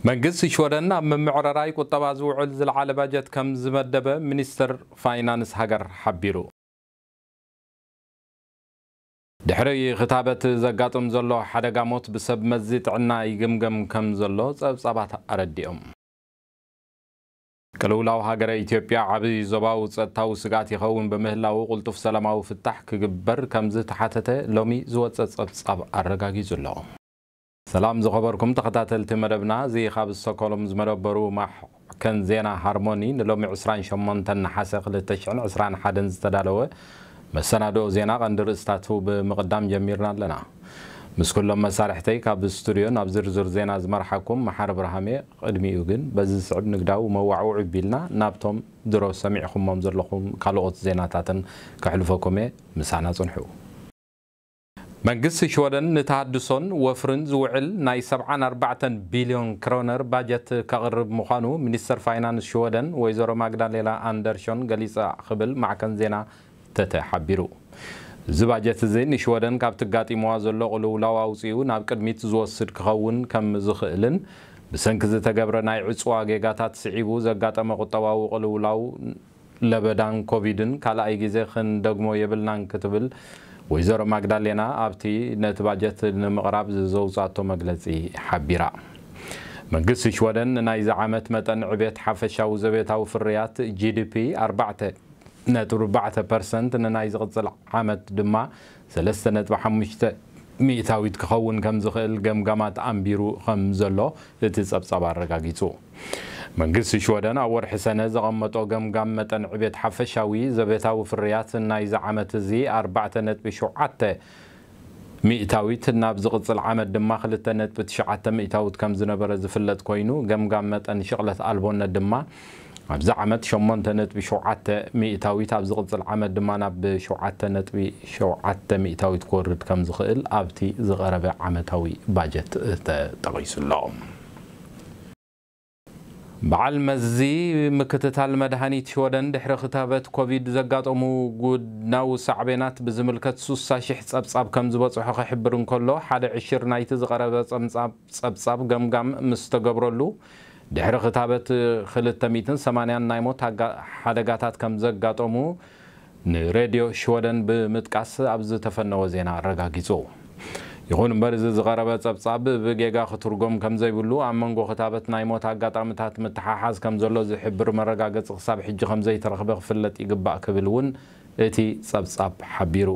መንግስቲ ሽወደን ኣብ ምምዕራራይ ቁጠባ ዝውዕል ዝለዓለ ባጀት ከም ዝመደበ ሚኒስትር ፋይናንስ ሃገር ሓቢሩ። ድሕሪ ክታበት ዘጋጥም ዘሎ ሓደጋ ሞት ብሰብ መዚ ጥዕና ይግምገም ከም ዘሎ ጸብጻባት ኣረዲኦም። ቅልውላው ሃገረ ኢትዮጵያ ዓቢ ዞባዊ ጸጥታዊ ስግኣት ይኸውን ብምህላዉ፣ ቅልጡፍ ሰላማዊ ፍታሕ ክግበር ከም ዝተሓተተ ሎሚ ዝወጸ ጸብጻብ ኣረጋጊጹ ኣሎ። ሰላም ዝኸበርኩም ተኸታተልቲ መደብና፣ እዚ ካብ ስቶኮልም ዝመደበሩ ማዕከን ዜና ሃርሞኒ ንሎሚ ዕስራን ሸሞንተን ነሓሰ ክልተ ሽሕን ዕስራን ሓደን ዝተዳለወ መሰናድኦ ዜና ቀንዲ ርእስታቱ ብምቕዳም ጀሚርና ኣለና። ምስ ኩሎም መሳርሕተይ ካብ ስቱድዮ ናብ ዝርዝር ዜና ዝመርሓኩም መሓሪ ብርሃሜ። ቅድሚኡ ግን በዚ ዝስዕብ ንግዳዊ መዋዕውዒ ቢልና ናብቶም ድሮ ሰሚዕኹሞም ዘለኹም ካልኦት ዜናታትን ከሕልፈኩም እየ። ምሳና ጽንሑ። መንግስቲ ሽወደን ንተሃድሶን ወፍርን ዝውዕል ናይ ሰብዓን ኣርባዕተን ቢልዮን ክሮነር ባጀት ከቕርብ ምዃኑ ሚኒስተር ፋይናንስ ሽወደን ወይዘሮ ማግዳሌና ኣንደርሾን ገሊጻ ክብል ማዕከን ዜና ተተ ሓቢሩ። እዚ ባጀት እዚ ንሽወደን ካብቲ ኣጋጢምዋ ዘሎ ቅልውላው ኣውጺኡ ናብ ቅድሚት ዝወስድ ክኸውን ከም ዝኽእልን ብሰንኪ ዝተገብረ ናይ ዕጽዋ ጌጋታት ስዒቡ ዘጋጠመ ቁጠባዊ ቅልውላው ለበዳን ኮቪድን ካልኣይ ግዜ ክንደግሞ የብልናን ክትብል ወይዘሮ ማግዳሌና ኣብቲ ነቲ ባጀት ንምቕራብ ዘውጻቶ መግለጺ ሓቢራ። መንግስቲ ሽወደን ንናይዚ ዓመት መጠን ዕቤት ሓፈሻዊ ዘቤታዊ ፍርያት ጂ ዲ ፒ ኣርባዕተ ነጥቢ ኣርባዕተ ፐርሰንት፣ ንናይ ዝቕጽል ዓመት ድማ ሰለስተ ነጥቢ ሓሙሽተ ሚእታዊት ክኸውን ከም ዝኽእል ገምጋማት ኣንቢሩ ከም ዘሎ እቲ ጸብጻብ ኣረጋጊጹ። መንግስቲ ሽወደን ኣብ ወርሒ ሰነ ዘቐመጦ ገምጋም መጠን ዕቤት ሓፈሻዊ ዘቤታዊ ፍርያት ናይዚ ዓመት እዚ ኣርባዕተ ነጥቢ ሸውዓተ ሚእታዊት፣ ናብ ዝቕጽል ዓመት ድማ ክልተ ነጥቢ ትሽዓተ ሚእታዊት ከም ዝነበረ ዝፍለጥ ኮይኑ፣ ገምጋም መጠን ሽቕለት ኣልቦነት ድማ ኣብዚ ዓመት ሸሞንተ ነጥቢ ሸውዓተ ሚእታዊት፣ ኣብ ዝቕጽል ዓመት ድማ ናብ ሸውዓተ ነጥቢ ሸውዓተ ሚእታዊት ክወርድ ከም ዝኽእል ኣብቲ ዝቐረበ ዓመታዊ ባጀት ተጠቒሱ ኣሎ። በዓል መዚ ምክትታል መድሃኒት ሽወደን ድሕሪ ክታበት ኮቪድ ዘጋጠሙ ጎድናዊ ሳዕቤናት ብዝምልከት ሱሳ ሽሕ ጸብጻብ ከም ዝበጽሖ ክሕብር እንከሎ፣ ሓደ ዕሽር ናይቲ ዝቐረበ ጸምጻብ-፣ ጸብጻብ ገምጋም ምስ ተገብረሉ፣ ድሕሪ ክታበት ክልተ ሚእትን ሰማንያን ናይ ሞት ኣጋ-፣ ሓደጋታት ከም ዘጋጠሙ ንሬድዮ ሽወደን ብምጥቃስ ኣብ ዝተፈነወ ዜና ኣረጋጊጹ። ይኹን እምበር፣ እዚ ዝቐረበ ጸብጻብ ብጌጋ ክትርጎም ከም ዘይብሉ፣ ኣብ መንጎ ክታበት ናይ ሞት ኣጋጣምታት ምትሓሓዝ ከም ዘሎ ዝሕብር መረጋገጺ ክሳብ ሕጂ ከም ዘይተረኽበ ክፍለጥ ይግባእ ክብል እውን እቲ ጸብጻብ ሓቢሩ።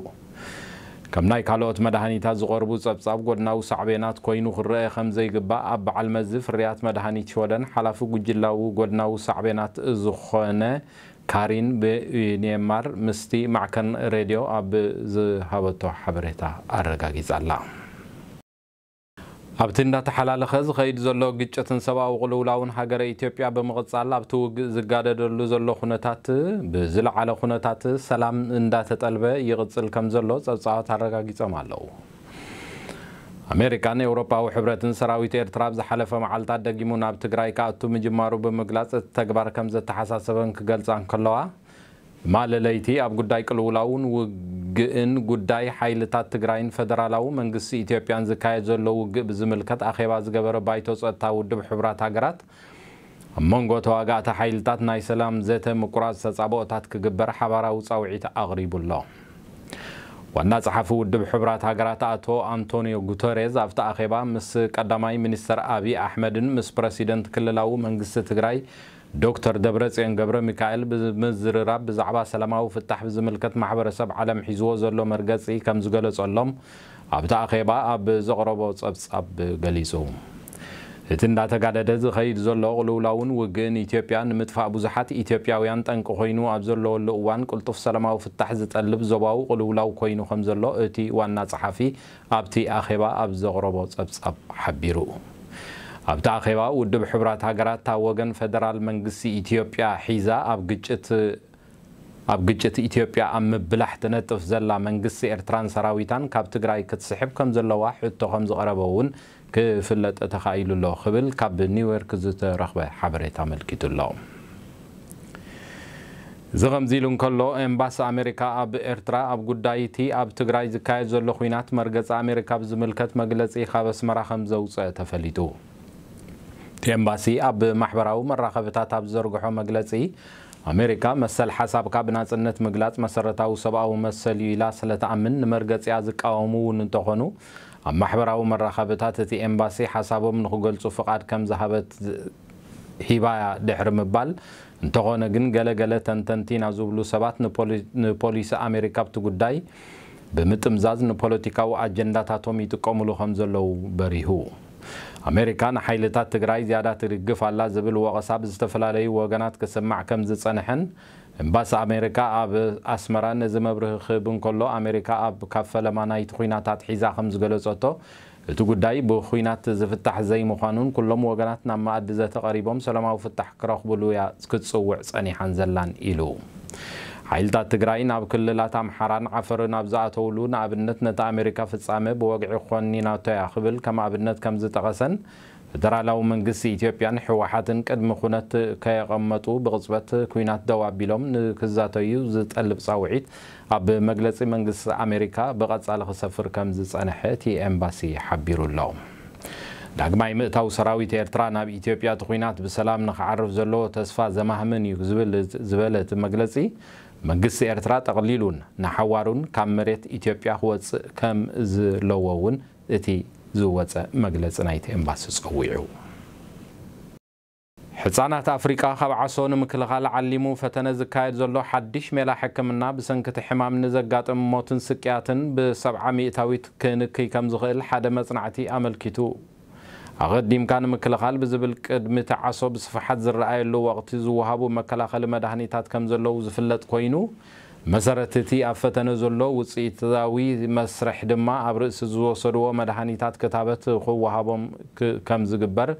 ከም ናይ ካልኦት መድሃኒታት ዝቐርቡ ጸብጻብ ጎድናዊ ሳዕቤናት ኮይኑ ክረአ ከም ዘይግባእ ኣብ በዓል መዚ ፍርያት መድሃኒት ሽወደን ሓላፊ ጉጅላዊ ጎድናዊ ሳዕቤናት ዝኾነ ካሪን ብዩኔማር ምስቲ ማዕከን ሬድዮ ኣብ ዝሃበቶ ሓበሬታ ኣረጋጊጻ ኣላ። ኣብቲ እንዳተሓላለኸ ዝኸይድ ዘሎ ግጭትን ሰብኣዊ ቅልውላውን ሃገረ ኢትዮጵያ ብምቕጻል ኣብቲ ውግእ ዝጋደደሉ ዘሎ ኩነታት ብዝለዓለ ኩነታት ሰላም እንዳተጠልበ ይቕጽል ከም ዘሎ ጸብጻባት ኣረጋጊጾም ኣለዉ። ኣሜሪካን ኤውሮጳዊ ሕብረትን ሰራዊት ኤርትራ ኣብ ዝሓለፈ መዓልታት ደጊሙ ናብ ትግራይ ክኣቱ ምጅማሩ ብምግላጽ፣ እቲ ተግባር ከም ዘተሓሳሰበን ክገልጻ እንከለዋ፣ ትማሊ ለይቲ ኣብ ጉዳይ ቅልውላውን ውግእን፣ ጉዳይ ሓይልታት ትግራይን ፈደራላዊ መንግስቲ ኢትዮጵያን ዝካየድ ዘሎ ውግእ ብዝምልከት ኣኼባ ዝገበረ ባይቶ ጸጥታ ውድብ ሕቡራት ሃገራት፣ ኣብ መንጎ ተዋጋእቲ ሓይልታት ናይ ሰላም ዘተ ምቁራጽ ተጻብኦታት ክግበር ሓባራዊ ጻውዒት ኣቕሪቡ ኣሎ። ዋና ጸሓፊ ውድብ ሕቡራት ሃገራት ኣቶ ኣንቶኒዮ ጉተሬዝ ኣብቲ ኣኼባ ምስ ቀዳማይ ሚኒስተር ኣብይ ኣሕመድን ምስ ፕረሲደንት ክልላዊ መንግስቲ ትግራይ ዶክተር ደብረጽዮን ገብረ ሚካኤል ብምዝርራብ፣ ብዛዕባ ሰላማዊ ፍታሕ ብዝምልከት ማሕበረሰብ ዓለም ሒዝዎ ዘሎ መርገጺ ከም ዝገለጸሎም ኣብቲ ኣኼባ ኣብ ዘቕረቦ ጸብጻብ ገሊጹ። እቲ እንዳተጋደደ ዝኸይድ ዘሎ ቅልውላውን ውግእን ኢትዮጵያ ንምጥፋእ ብዙሓት ኢትዮጵያውያን ጠንቂ ኮይኑ ኣብ ዘለወሉ እዋን፣ ቅልጡፍ ሰላማዊ ፍታሕ ዝጠልብ ዞባዊ ቅልውላው ኮይኑ ከም ዘሎ እቲ ዋና ጸሓፊ ኣብቲ ኣኼባ ኣብ ዘቕረቦ ጸብጻብ ሓቢሩ። ኣብቲ ኣኼባ፣ ውድብ ሕቡራት ሃገራት፣ እታ ወገን ፈደራል መንግስቲ ኢትዮጵያ ሒዛ ኣብ ግጭት ኣብ ግጭት ኢትዮጵያ ኣብ ምብላሕ ትነጥፍ ዘላ መንግስቲ ኤርትራን ሰራዊታን ካብ ትግራይ ክትስሕብ ከም ዘለዋ ሕቶ ከም ዝቐረበ እውን ክፍለጥ ተኻኢሉ ኣሎ ክብል ካብ ኒውዮርክ ዝተረኽበ ሓበሬታ ኣመልኪቱ ኣሎ። እዚ ከምዚ ኢሉ እንከሎ፣ ኤምባሲ ኣሜሪካ ኣብ ኤርትራ ኣብ ጉዳይ እቲ ኣብ ትግራይ ዝካየድ ዘሎ ኲናት መርገጺ ኣሜሪካ ብዝምልከት መግለጺ ካብ ኣስመራ ከም ዘውጸአ ተፈሊጡ። እቲ ኤምባሲ ኣብ ማሕበራዊ መራኸብታት ኣብ ዝዘርግሖ መግለጺ፣ ኣሜሪካ መሰል ሓሳብካ ብናጽነት ምግላጽ መሰረታዊ ሰብኣዊ መሰል እዩ ኢላ ስለ ትኣምን፣ ንመርገጺኣ ዝቃወሙ እውን እንተኾኑ፣ ኣብ ማሕበራዊ መራኸብታት እቲ ኤምባሲ ሓሳቦም ንኽገልጹ ፍቓድ ከም ዝሃበት ሂባያ ድሕሪ ምባል፣ እንተኾነ ግን ገለ ገለ ተንተንቲ ኢና ዝብሉ ሰባት ንፖሊ-፣ ንፖሊሲ ኣሜሪካ ኣብቲ ጉዳይ ብምጥምዛዝ ንፖለቲካዊ ኣጀንዳታቶም ይጥቀሙሉ ከም ዘለዉ በሪሁ። ኣሜሪካ ንሓይልታት ትግራይ ዝያዳ ትድግፍ ኣላ ዝብል ወቐሳ ብዝተፈላለዩ ወገናት ክስማዕ ከም ዝጸንሐን፣ ኤምባሲ ኣሜሪካ ኣብ ኣስመራ ነዚ መብርሂ ክህብ እንከሎ፣ ኣሜሪካ ኣብ ካብ ፈለማ ናይቲ ኲናት ኣትሒዛ ከም ዝገለጸቶ፣ እቲ ጉዳይ ብኹናት ዝፍታሕ ዘይምዃኑን ኩሎም ወገናት ናብ መኣዲ ዘተ ቀሪቦም ሰላማዊ ፍታሕ ክረኽብሉ እያ ክትጽውዕ ጸኒሓን ዘላን ኢሉ። ሓይልታት ትግራይ ናብ ክልላት ኣምሓራን ዓፈርን ኣብ ዝኣተውሉ፣ ንኣብነት ነቲ ኣሜሪካ ፍጻመ ብወግዒ ኮኒናቶ እያ ክብል ከም ኣብነት ከም ዝጠቐሰን፣ ፈደራላዊ መንግስቲ ኢትዮጵያን ህወሓትን ቅድሚ ኩነት ከየቐመጡ ብቕጽበት ኲናት ደው ኣቢሎም ንክዛተዩ ዝጠልብ ጻውዒት ኣብ መግለጺ መንግስቲ ኣሜሪካ ብቐጻሊ ክሰፍር ከም ዝጸንሐ እቲ ኤምባሲ ሓቢሩ ኣሎ። ዳግማይ ምእታው ሰራዊት ኤርትራ ናብ ኢትዮጵያ እቲ ኲናት ብሰላም ንክዓርፍ ዘለዎ ተስፋ ዘማህምን እዩ ዝብል፣ ዝበለ እቲ መግለጺ፣ መንግስቲ ኤርትራ ጠቕሊሉን ንሓዋሩን ካብ መሬት ኢትዮጵያ ክወጽእ ከም ዝለዎ እውን እቲ ዝወጸ መግለጺ ናይቲ ኤምባሲ ጸዊዑ። ሕጻናት ኣፍሪቃ ካብ ዓሶ ንምክልኻል ዓሊሙ ፈተነ ዝካየድ ዘሎ ሓድሽ ሜላ ሕክምና፣ ብሰንኪ እቲ ሕማም ንዘጋጥም ሞትን ስቅያትን ብሰብዓ ሚእታዊት ክንክይ ከም ዝኽእል ሓደ መጽናዕቲ ኣመልኪቱ። ኣቐዲምካ ንምክልኻል ብዝብል፣ ቅድሚ እቲ ዓሶ ብስፍሓት ዝረኣየሉ ወቕቲ ዝወሃቡ መከላኸሊ መድሃኒታት ከም ዘለዉ ዝፍለጥ ኮይኑ፣ መሰረት እቲ ኣብ ፈተነ ዘሎ ውጽኢታዊ መስርሕ ድማ ኣብ ርእሲ ዝወሰድዎ መድሃኒታት ክታበት ክወሃቦም ክ-፣ ከም ዝግበር፣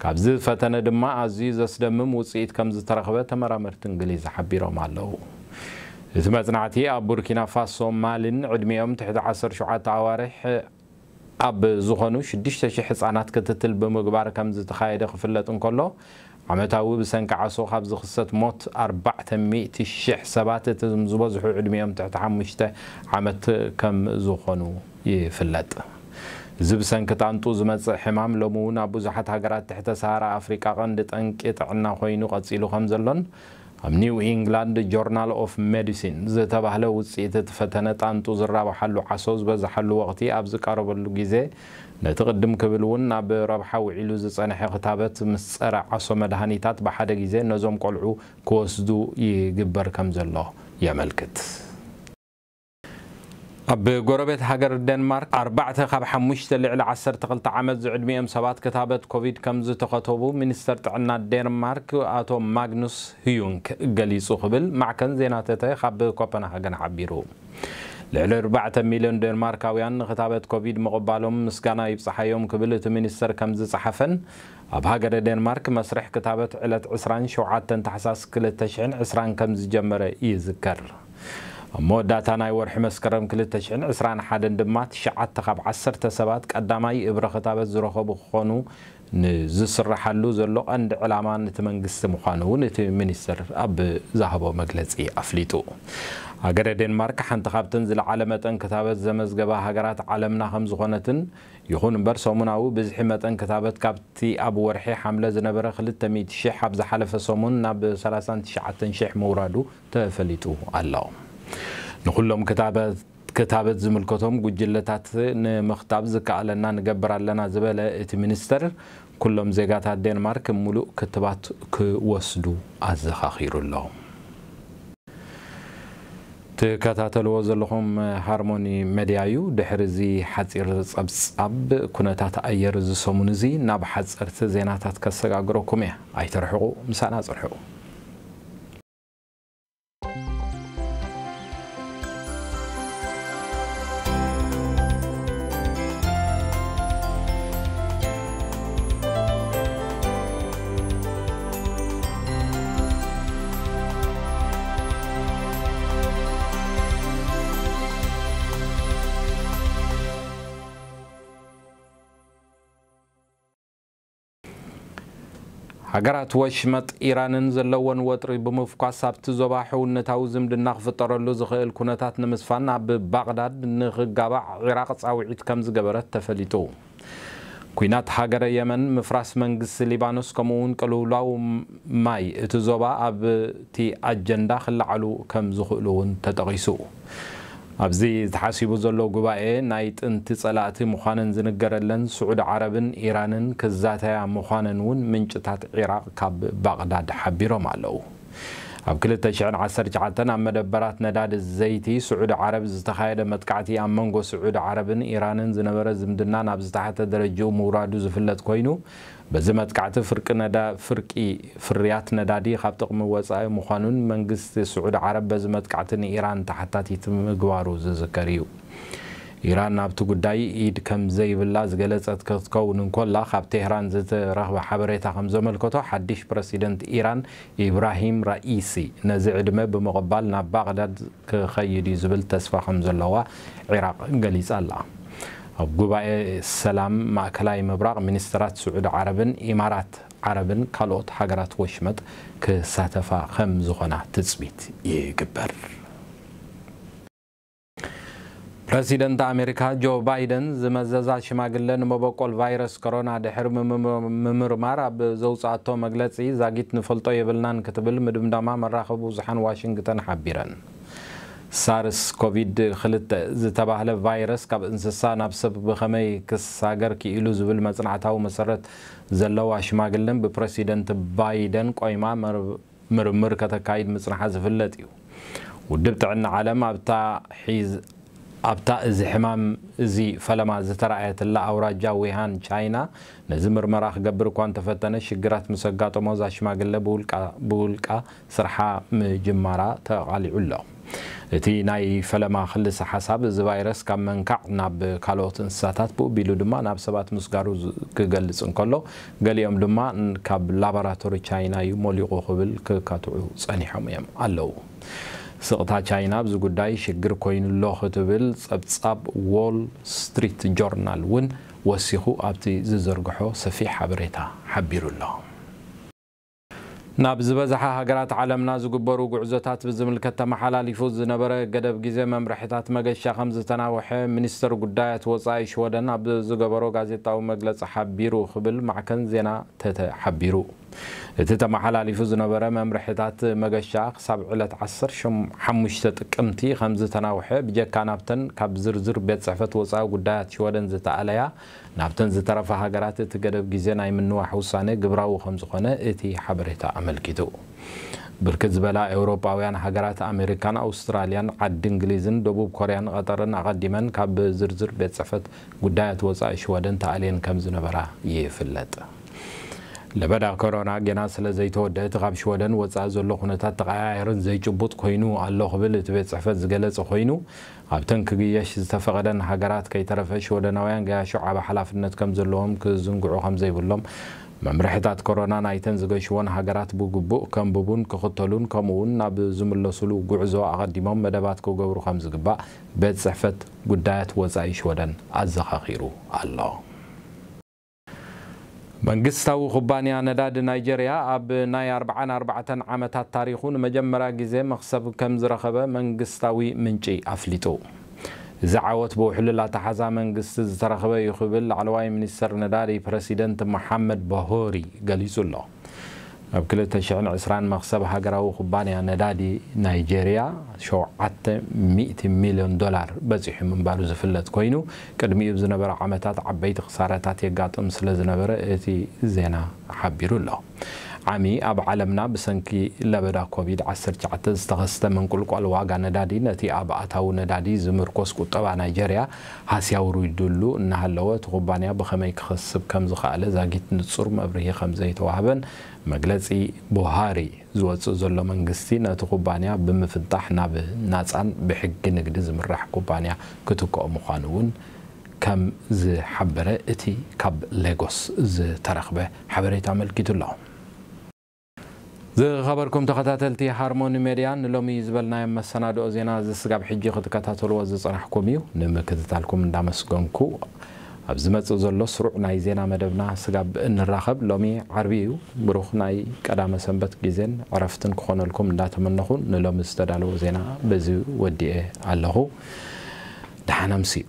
ካብዚ ፈተነ ድማ ኣዝዩ ዘስደምም ውጽኢት ከም ዝተረኽበ ተመራመርቲ እንግሊዝ ሓቢሮም ኣለዉ። እቲ መጽናዕቲ ኣብ ቡርኪና ፋሶ፣ ማሊን ዕድሚኦም ትሕቲ ዓሰርተ ሸውዓተ ኣዋርሕ ኣብ ዝኾኑ ሽዱሽተ ሽሕ ህጻናት ክትትል ብምግባር ከም ዝተኻየደ ክፍለጥ እንከሎ፣ ዓመታዊ ብሰንኪ ዓሶ ካብ ዝኽሰት ሞት ኣርባዕተ ሚእቲ ሽሕ ሰባት፣ እቶም ዝበዝሑ ዕድሚኦም ትሕቲ ሓሙሽተ ዓመት ከም ዝኾኑ ይፍለጥ። እዚ ብሰንኪ ጣንጡ ዝመጽእ ሕማም ሎሚ እውን ኣብ ብዙሓት ሃገራት ትሕተ ሰሃራ ኣፍሪቃ ቀንዲ ጠንቂ ጥዕና ኮይኑ ቀጺሉ ከም ዘሎን፣ ኣብ ኒው ኢንግላንድ ጆርናል ኦፍ ሜዲሲን ዝተባህለ ውጽኢት እቲ ፈተነ ጣንጡ ዝራብሓሉ ዓሶ ዝበዝሓሉ ወቕቲ ኣብ ዝቃረበሉ ግዜ፣ ነቲ ቅድም ክብል እውን ናብ ረብሓ ውዒሉ ዝጸንሐ ክታበት ምስ ጸረ ዓሶ መድሃኒታት ብሓደ ግዜ ነዞም ቆልዑ ክወስዱ ይግበር ከም ዘሎ የመልክት። ኣብ ጎረቤት ሃገር ዴንማርክ፣ ኣርባዕተ ካብ ሓሙሽተ ልዕሊ ዓሰርተ ክልተ ዓመት ዝዕድሚኦም ሰባት ክታበት ኮቪድ ከም ዝተኸተቡ ሚኒስተር ጥዕና ዴንማርክ ኣቶ ማግኑስ ህዩንክ ገሊጹ ክብል ማዕከን ዜና ተተ ካብ ኮፐንሃገን ሓቢሩ። ልዕሊ ኣርባዕተ ሚልዮን ዴንማርካውያን ንክታበት ኮቪድ ምቕባሎም ምስጋና ይብጽሓዮም ክብል እቲ ሚኒስተር ከም ዝጸሓፈን፣ ኣብ ሃገረ ዴንማርክ መስርሕ ክታበት ዕለት ዕስራን ሸውዓተን ታሕሳስ ክልተ ሽሕን ዕስራን ከም ዝጀመረ ይዝከር። ኣብ መወዳእታ ናይ ወርሒ መስከረም ክልተ ሽሕን ዕስራን ሓደን ድማ ትሽዓተ ካብ ዓሰርተ ሰባት ቀዳማይ እብረ ክታበት ዝረኸቡ ክኾኑ ንዝስራሓሉ ዘሎ ቀንዲ ዕላማ ነቲ መንግስቲ ምዃኑ እውን እቲ ሚኒስትር ኣብ ዝሃቦ መግለጺ ኣፍሊጡ። ሃገረ ዴንማርክ ሓንቲ ካብተን ዝለዓለ መጠን ክታበት ዘመዝገባ ሃገራት ዓለምና ከም ዝኾነትን፣ ይኹን እምበር ሰሙናዊ ብዝሒ መጠን ክታበት ካብቲ ኣብ ወርሒ ሓምለ ዝነበረ ክልተ ሚእቲ ሽሕ ኣብ ዝሓለፈ ሰሙን ናብ ሰላሳን ትሽዓተን ሽሕ ምውራዱ ተፈሊጡ ኣሎ። ንኹሎም ክታበት ክታበት ዝምልከቶም ጉጅለታት ንምኽታብ ዝከኣለና ንገብር ኣለና ዝበለ እቲ ሚኒስተር፣ ኩሎም ዜጋታት ዴንማርክ ምሉእ ክትባት ክወስዱ ኣዘኻኺሩ ኣሎ። ትከታተልዎ ዘለኹም ሃርሞኒ መድያ እዩ። ድሕሪ እዚ ሓጺር ጸብጻብ ኩነታት ኣየር እዚ ሰሙን እዚ ናብ ሓጸርቲ ዜናታት ከሰጋግረኩም እየ። ኣይትርሕቑ፣ ምሳና ጽንሑ። ሃገራት ወሽመጥ ኢራንን ዘለወን ወጥሪ ብምፍኳስ ኣብቲ ዞባ ሕውነታዊ ዝምድና ክፍጠረሉ ዝኽእል ኩነታት ንምስፋን ኣብ ባቕዳድ ንኽጋባእ ዒራቕ ጻውዒት ከም ዝገበረት ተፈሊጡ። ኲናት ሃገረ የመን፣ ምፍራስ መንግስቲ ሊባኖስ፣ ከምኡ እውን ቅልውላው ማይ እቲ ዞባ ኣብቲ ኣጀንዳ ክለዓሉ ከም ዝኽእሉ እውን ተጠቒሱ። ኣብዚ ተሓሲቡ ዘሎ ጉባኤ፣ ናይ ጥንቲ ጸላእቲ ምዃነን ዝንገረለን ስዑዲ ዓረብን ኢራንን ክዛተያ ምዃነን እውን ምንጭታት ዒራቕ ካብ ባቕዳድ ሓቢሮም ኣለዉ። ኣብ ክልተ ሽሕን ዓሰርተ ትሽዓተን ኣብ መደበራት ነዳዲ ዘይቲ ስዑዲ ዓረብ ዝተኻየደ መጥቃዕቲ፣ ኣብ መንጎ ስዑዲ ዓረብን ኢራንን ዝነበረ ዝምድና ናብ ዝተሓተ ደረጃኡ ምውራዱ ዝፍለጥ ኮይኑ፣ በዚ መጥቃዕቲ ፍርቂ ነዳ-፣ ፍርቂ ፍርያት ነዳዲ ካብ ጥቕሚ ወጻኢ ምዃኑን መንግስቲ ስዑዲ ዓረብ በዚ መጥቃዕቲ ንኢራን ተሓታቲት ምግባሩ ዝዝከር እዩ። ኢራን ኣብቲ ጉዳይ ኢድ ከም ዘይብላ ዝገለጸት ክትከውን እንኮላ፣ ካብ ቴህራን ዝተረኽበ ሓበሬታ ከም ዘመልከቶ፣ ሓድሽ ፕረሲደንት ኢራን ኢብራሂም ራኢሲ ነዚ ዕድመ ብምቕባል ናብ ባቕዳድ ክኸይድ እዩ ዝብል ተስፋ ከም ዘለዋ ዒራቕ ገሊጻ ኣላ። ኣብ ጉባኤ ሰላም ማእከላይ ምብራቕ፣ ሚኒስትራት ስዑዲ ዓረብን ኢማራት ዓረብን ካልኦት ሃገራት ወሽመጥ ክሳተፋ ከም ዝኾና ትጽቢት ይግበር። ፕረሲደንት ኣሜሪካ ጆ ባይደን፣ ዝመዘዛ ሽማግለ ንመበቆል ቫይረስ ኮሮና ድሕሪ ምምር-፣ ምምርማር ኣብ ዘውጽኣቶ መግለጺ፣ ዛጊት ንፈልጦ የብልናን ክትብል ምድምዳማ መራኸቢ ብዙሓን ዋሽንግተን ሓቢረን። ሳርስ ኮቪድ ክልተ ዝተባህለ ቫይረስ ካብ እንስሳ ናብ ሰብ ብኸመይ ክሳገር ክኢሉ ዝብል መጽናዕታዊ መሰረት ዘለዋ ሽማግለን ብፕረሲደንት ባይደን ቆይማ መር-፣ ምርምር ከተካይድ ምጽንሓ ዝፍለጥ እዩ። ውድብ ጥዕና ዓለም ኣብታ ሒዝ-፣ ኣብታ እዚ ሕማም እዚ ፈለማ ዝተራእየትላ ኣውራጃ ዊሃን ቻይና፣ ነዚ ምርመራ ክገብር እኳ እንተፈተነ፣ ሽግራት ምስ ኣጋጠሞ፣ እዛ ሽማግለ ብውልቃ-፣ ብውልቃ ስርሓ ምጅማራ ተቓሊዑ ኣሎ። እቲ ናይ ፈለማ ክልሰ ሓሳብ፣ እዚ ቫይረስ ካብ መንካዕ ናብ ካልኦት እንስሳታት፣ ብኡ ቢሉ ድማ ናብ ሰባት ምስጋሩ ዝ-፣ ክገልጽ እንከሎ፣ ገሊኦም ድማ ን-፣ ካብ ላቦራቶሪ ቻይና እዩ ሞሊቑ ክብል ክካትዑ ጸኒሖም እዮም ኣለዉ። ስቕታ ቻይና ኣብዚ ጉዳይ ሽግር ኮይኑ ኣሎ ክትብል ጸብጻብ ዎል ስትሪት ጆርናል እውን ወሲኹ ኣብቲ ዝዘርግሖ ሰፊሕ ሓበሬታ ሓቢሩ ኣሎ። ናብ ዝበዝሓ ሃገራት ዓለምና ዝግበሩ ጉዕዞታት ብዝምልከት ተመሓላሊፉ ዝነበረ ገደብ ግዜ መምርሕታት መገሻ ከም ዝተናውሐ ሚኒስተር ጉዳያት ወጻኢ ሽወደን ኣብ ዝገበሮ ጋዜጣዊ መግለጺ ሓቢሩ ክብል ማዕከን ዜና ተተ ሓቢሩ። እቲ ተመሓላሊፉ ዝነበረ መምርሕታት መገሻ ክሳብ ዕለት ዓሰርተ ሓሙሽተ ጥቅምቲ ከም ዝተናውሐ ብጀካ ናብተን ካብ ዝርዝር ቤት ጽሕፈት ወጻኢ ጉዳያት ሽወደን ዝተኣለያ ናብተን ዝተረፋ ሃገራት እቲ ገደብ ግዜ ናይ ምንዋሕ ውሳነ ግብራዊ ከም ዝኾነ እቲ ሓበሬታ ኣመልኪቱ። ብርክት ዝበላ ኤውሮጳውያን ሃገራት ኣሜሪካን ኣውስትራልያን ዓዲ እንግሊዝን ደቡብ ኮርያን ቐጠርን ኣቐዲመን ካብ ዝርዝር ቤት ጽሕፈት ጉዳያት ወጻኢ ሽወደን ተኣልየን ከም ዝነበራ ይፍለጥ። ለበዳ ኮሮና ገና ስለ ዘይተወደአ እቲ ካብ ሽወደን ወጻኢ ዘሎ ኩነታት ተቐያየርን ዘይጭቡጥ ኮይኑ ኣሎ ክብል እቲ ቤት ጽሕፈት ዝገለጸ ኮይኑ፣ ኣብተን ክግየሽ ዝተፈቐደን ሃገራት ከይተረፈ ሽወደናውያን ገያሾ ዓቢ ሓላፍነት ከም ዘለዎም ክዝንግዑ ከም ዘይብሎም፣ መምርሕታት ኮሮና ናይተን ዝገሽዎን ሃገራት ብግቡእ ከንብቡን ክኽተሉን ከምኡውን ናብ ዝምለሱሉ ጉዕዞ ኣቐዲሞም መደባት ክገብሩ ከም ዝግባእ ቤት ጽሕፈት ጉዳያት ወጻኢ ሽወደን ኣዘኻኺሩ ኣሎ። መንግስታዊ ኩባንያ ነዳዲ ናይጀርያ ኣብ ናይ ኣርብዓን ኣርባዕተን ዓመታት ታሪኹ ንመጀመርያ ግዜ መኽሰብ ከም ዝረኸበ መንግስታዊ ምንጪ ኣፍሊጡ። እዚ ዓወት ብውሕሉል ኣተሓዛ መንግስቲ ዝተረኸበ እዩ ክብል ላዕለዋይ ሚኒስተር ነዳዲ ፕረሲደንት መሓመድ በሆሪ ገሊጹ ኣሎ። ኣብ ክልተ ሽሕን ዕስራን መኽሰብ ሃገራዊ ኩባንያ ነዳዲ ናይጀርያ ሸውዓተ ሚእቲ ሚልዮን ዶላር በጺሑ ምንባሩ ዝፍለጥ ኮይኑ፣ ቅድሚኡ ዝነበረ ዓመታት ዓበይቲ ክሳራታት የጋጥም ስለ ዝነበረ እቲ ዜና ሓቢሩ ኣሎ። ዓሚ ኣብ ዓለምና ብሰንኪ ለበዳ ኮቪድ ዓሰርተ ትሽዓተ ዝተኸስተ ምንቁልቋል ዋጋ ነዳዲ ነቲ ኣብ ኣታዊ ነዳዲ ዝምርኮስ ቁጠባ ናይጀርያ ሃስያ ኣውሪዱሉ እናሃለወ፣ እቲ ኩባንያ ብኸመይ ክኸስብ ከም ዝኸኣለ ዛጊት ንጹር መብርሂ ከም ዘይተዋህበን መግለጺ ቡሃሪ ዝወጽእ ዘሎ መንግስቲ ነቲ ኩባንያ ብምፍንጣሕ ናብ ናጻን ብሕጊ ንግዲ ዝምራሕ ኩባንያ ክትክኦ ምዃኑ እውን ከም ዝሓበረ እቲ ካብ ሌጎስ ዝተረኽበ ሓበሬታ ኣመልኪቱ ኣሎ። ዝኸበርኩም ተኸታተልቲ ሃርሞኒ ሜድያ፣ ንሎሚ ዝበልናዮም መሰናድኦ ዜና እዚ ስጋብ ሕጂ ክትከታተልዎ ዝጸናሕኩም እዩ። ንምክትታልኩም እንዳመስገንኩ፣ ኣብ ዝመጽእ ዘሎ ስሩዕ ናይ ዜና መደብና ስጋብ እንራኸብ፣ ሎሚ ዓርቢ እዩ። ብሩኽ ናይ ቀዳመ ሰንበት ግዜን ዕረፍትን ክኾነልኩም እንዳተመነኹ፣ ንሎሚ ዝተዳለወ ዜና በዚ ወዲኤ ኣለኹ። ደሓን ኣምስዩ።